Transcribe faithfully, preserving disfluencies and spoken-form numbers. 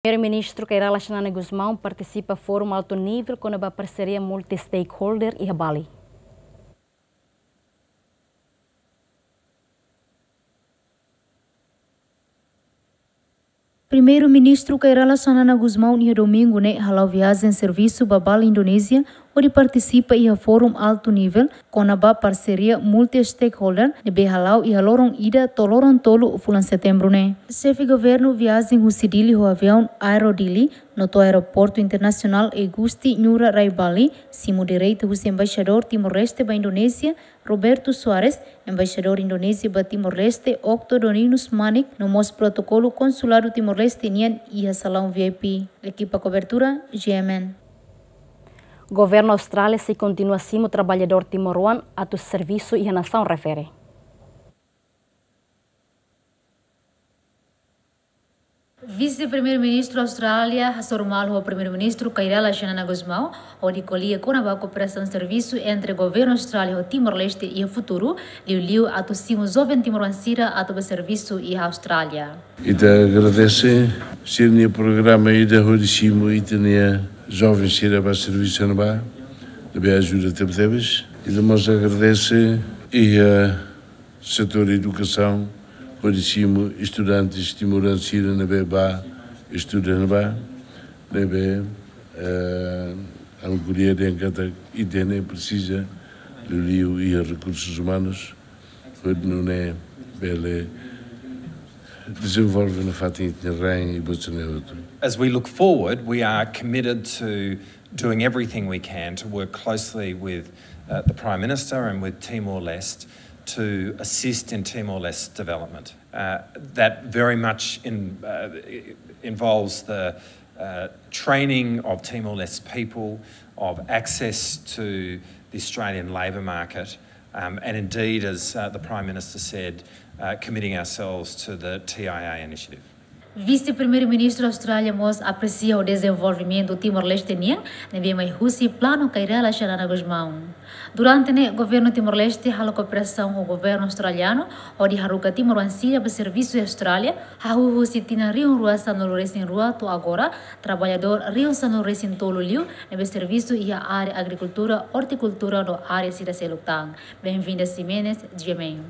Primeiru-Ministru Kay Rala Xanana Gusmão partisipa Fórum Altu Nivel kona-ba Parseria Multi-Stakeholder iha Bali. Primeiru-Ministru Kay Rala Xanana Gusmão iha domingu ne'e hala'o viajen servisu ba Bali, Indonézia, hodi partisipa iha Fórum Altu Nivel kona-ba Parseria Multi-Stakeholder ne'ebé hala'o iha loron ida to'o loron tolu fulan Setembru ne'e. Xefe Governu viajen husi Dili ho aviaun Aero Dili, no to'o Aeroportu Internasionál Igusti Ngurah Rai Bali, simu direita husi Embaixadór Timor-Leste ba Indonézia, Roberto Soares, Embaixadór Indonézia ba Timor-Leste, Okto Doninus Manik, no mós protokolu Konsuladu Timor-Leste nian iha salaun V I P. Ekipa kobertura, G M N. Governu Austrália sei kontinua simu traballadór timoroan atu servisu iha nasaun refere. Vise-Primeiru-Ministru Austrália hasoru malu ho Primeiru-Ministru Kay Rala Xanana Gusmão hodi ko'alia kona-ba kooperasaun servisu entre Governu Austrália ho Timor-Leste iha futuru, liuliu atu simu joven timoroan sira atu bá servisu iha Austrália. Ita agradese sira-nia programa ida hodi simu ita-nia joven sira bá servisu ne'ebá, ne'ebé ajuda tebetebes. Ita mós agradese iha setór edukasaun, hodi simu estudantes timoroan sira ne'ebé bá estuda ne'ebá, ne'ebé, eh, ha'u ko'alia dehan katak ita-nia presiza liuliu iha rekursus umanus, hodi nune'e bele dezenvolve nafatin ita-nia rain i buat sira-ne'e hotu. As we look forward, we are committed to doing everything we can to work closely with, uh, the Prime Minister and with Timor-Leste to assist in Timor-Leste's development. Uh, that very much in, uh, i-, involves the, uh, training of Timor-Leste people, of access to the Australian labour market, um, and indeed, as, uh, the Prime Minister said, uh, committing ourselves to the T I A initiative. Vise-Primeiru-Ministru Austrália mós apresia ho dezenvolvimentu Timor-Leste nian, ne'ebé mai husi planu Kay Rala Xanana Gusmão. Durante ne'e, Governu Timor-Leste halo kooperasaun ho Governu Australianu, hodi haruka timoroan sira bá servisu iha Austrália, hahú husi tinan rihun rua sanulu-resin-rua to'o agora, traballadór rihun sanulu-resin-tolu liu, ne'ebé servisu iha área agrikultura, ortikultura no área sira seluk tan. Benvinda Ximenes, G M N.